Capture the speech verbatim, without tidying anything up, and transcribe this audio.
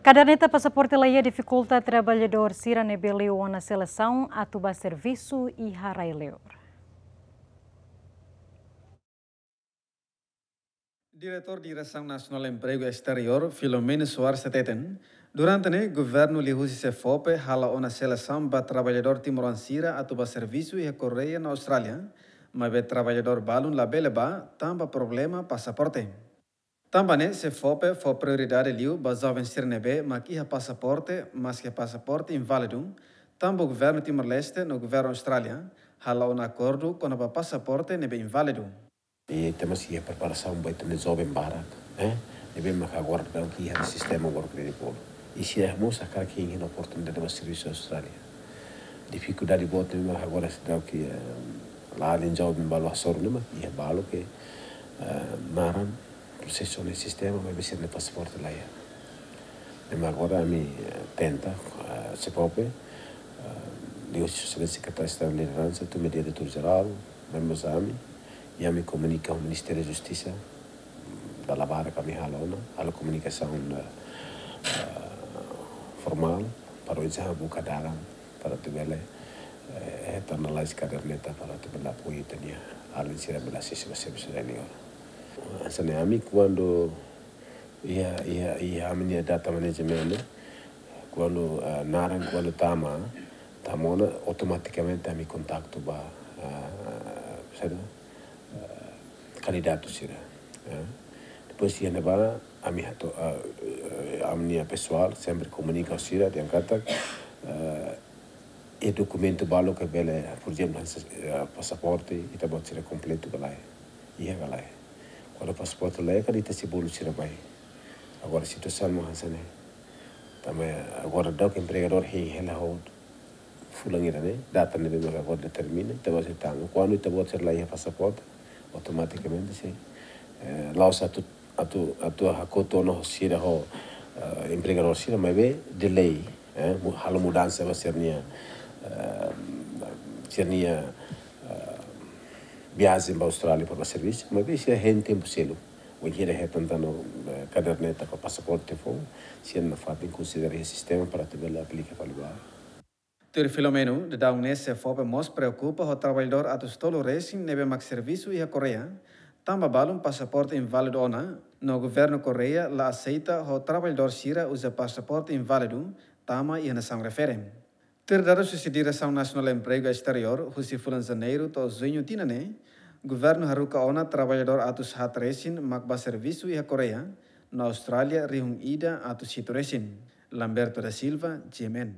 Kaderneta pasaporte laiha difikulta traballadór sira ne'ebé liu ona selesaun atu bá servisu iha rai-liur. Diretór Diresaun Nasionál Empregu Esteriór, Filomeno Soares hateten, durante ne'e governu liuhusi SEFOPE hala'o ona selesaun ba traballadór timoroan sira atu bá servisu iha Koreia no Austrália, maibé traballadór balun labele bá tanba problema pasaporte. Tanba ne'e SEFOPE fó prioridade liu ba joven sira ne'ebé mak iha pasaporte, maske pasaporte inválidu, tanba governu Timor-Leste no governu Austrália hala'o ona akordu kona-ba pasaporte ne'ebé inválidu. I temos iha preparasaun ba ita-nia joven barak, eh? Ne'ebé mak agora daudaun iha sistema agora kredit polo. I sira mós hakarak iha oportunidade ba servisu Austrália. Difikuldade boot ne'ebé mak agora daudaun, eh, la alin joven balu hasoru ne'e mak iha balu ke, eh, naran prosesu iha sistema, maibé sira-nia pasaporte laiha. Ne'e mak agora ami, eh, tenta, eh, SEFOPE, eh, liuhusi Sua Exelénsia Sekretáriu Estadu Lideransa, tun ba Diretór Jerál, maibé mós ami, i ami komunika ho Ministériu Justisa, dala barak ami halo ona, halo komunikasaun, eh, eh, formál, para oinsá buka dalan, para atu bele, eh, hetan lalais kaderneta, para atu bele apoiu ita-nia alin sira bele asesu ba servisu rai-liur. Hanesan ne'e ami kuandu iha, iha, iha ami-nia data management, kuandu, eh, naran kuandu tama, tama ona, automatikamente ami kontaktu ba, eh, saida, eh, kandidatu sira, eh. Depois iha ne'ebá, ami hato'o, eh, eh, ami-nia pesoál sempre komunika ho sira, dehan katak, eh, i dokumentu balu ke bele, por ezemplu, hanesan, eh, pasaporte, ita-boot sira kompletu ka lae, iha ka lae. Kuandu pasaporte laiha, karik ita sei bolu sira bá. Agora situasaun mak hanesan ne'e. Tanba agora daudaun empregadór hein hela ho fulan ida-ne'e, data ne'ebé mak agora determina, ita-boot sira tama. Kuandu ita-boot sira laiha pasaporte, automatikamente sei, eh, la'ós atu, atu, atu hakotu ona ho sira ho, eh, empregadór sira, maibé delay, eh, mu-, halo mudansa ba sira-nia, eh, sira-nia, eh, viajen ba Austrália para servisu, maibé sira hein tempu seluk. Wainhira hetan tan, eh, kaderneta ka pasaporte foun, sira nafatin konsidera iha sistema para atu bele aplika fali ba. Tuir Filomeno, daudaun ne'e SEFOPE mós preokupa ho traballadór atus tolu resin ne'ebé mak servisu iha Koreia, tanba balun pasaporte inválidu ona, no governu Koreia la aseita ho traballadór sira uza pasaporte inválidu tama iha nasaun refere. Tuir dadus husi Diresaun Nasionál Empregu Esteriór, husi fulan Janeiru to'o Juñu tinan ne'e, governu haruka ona traballadór atus haat resin mak bá servisu iha Koreia no Austrália rihun ida atus hitu resin. Lamberto da Silva, G M N.